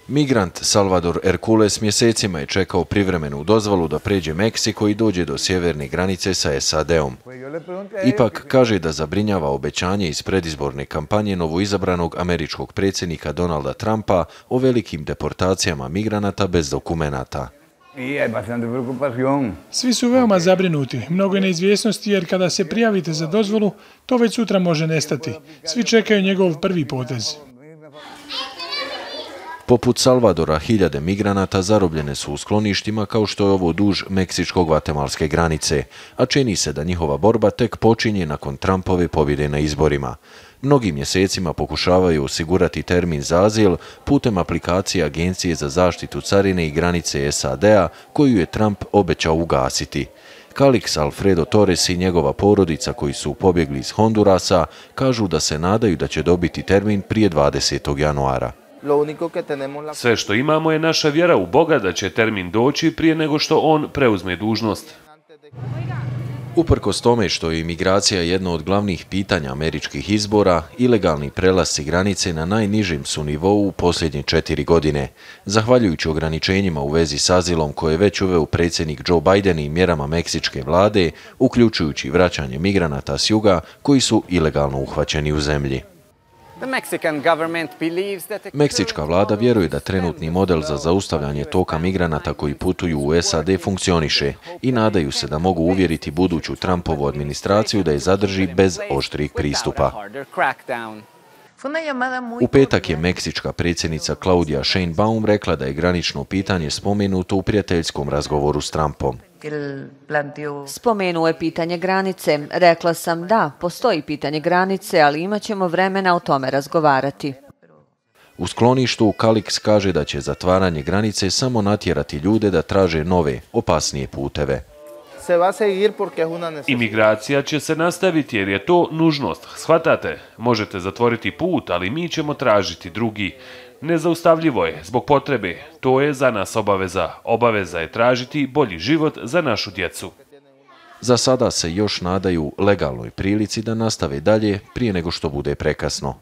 Migrant Salvador Hercules mjesecima je čekao privremenu dozvolu da pređe Meksiko i dođe do sjeverne granice sa SAD-om. Ipak kaže da zabrinjava obećanje iz predizborne kampanje novoizabranog američkog predsjednika Donalda Trumpa o velikim deportacijama migranata bez dokumenata. Svi su veoma zabrinuti. Mnogo je neizvjesnosti jer kada se prijavite za dozvolu, to već sutra može nestati. Svi čekaju njegov prvi potez. Poput Salvadora, hiljade migranata zarobljene su u skloništima kao što je ovo duž meksičko-gvatemalske granice, a čini se da njihova borba tek počinje nakon Trumpove pobjede na izborima. Mnogi mjesecima pokušavaju osigurati termin za azil putem aplikacije Agencije za zaštitu carine i granice SAD-a koju je Trump obećao ugasiti. Calix Alfredo Torres i njegova porodica koji su pobjegli iz Hondurasa kažu da se nadaju da će dobiti termin prije 20. januara. Sve što imamo je naša vjera u Boga da će termin doći prije nego što on preuzme dužnost. Uprkos tome što je imigracija jedno od glavnih pitanja američkih izbora, ilegalni prelasci granice na najnižem su nivou u posljednje 4 godine. Zahvaljujući ograničenjima u vezi s azilom koje je već uveo predsjednik Joe Biden i mjerama meksičke vlade, uključujući vraćanje migranata s juga koji su ilegalno uhvaćeni u zemlji. Meksička vlada vjeruje da trenutni model za zaustavljanje toka migranata koji putuju u SAD funkcioniše i nadaju se da mogu uvjeriti buduću Trumpovu administraciju da je zadrži bez oštrih pristupa. U petak je meksička predsjednica Claudia Sheinbaum rekla da je granično pitanje spomenuto u prijateljskom razgovoru s Trumpom. Spomenuo je pitanje granice. Rekla sam da, postoji pitanje granice, ali imat ćemo vremena o tome razgovarati. U skloništu Calix kaže da će zatvaranje granice samo natjerati ljude da traže nove, opasnije puteve. Imigracija će se nastaviti jer je to nužnost. Shvatate, možete zatvoriti put, ali mi ćemo tražiti drugi. Nezaustavljivo je, zbog potrebe. To je za nas obaveza. Obaveza je tražiti bolji život za našu djecu. Za sada se još nadaju legalnoj prilici da nastave dalje prije nego što bude prekasno.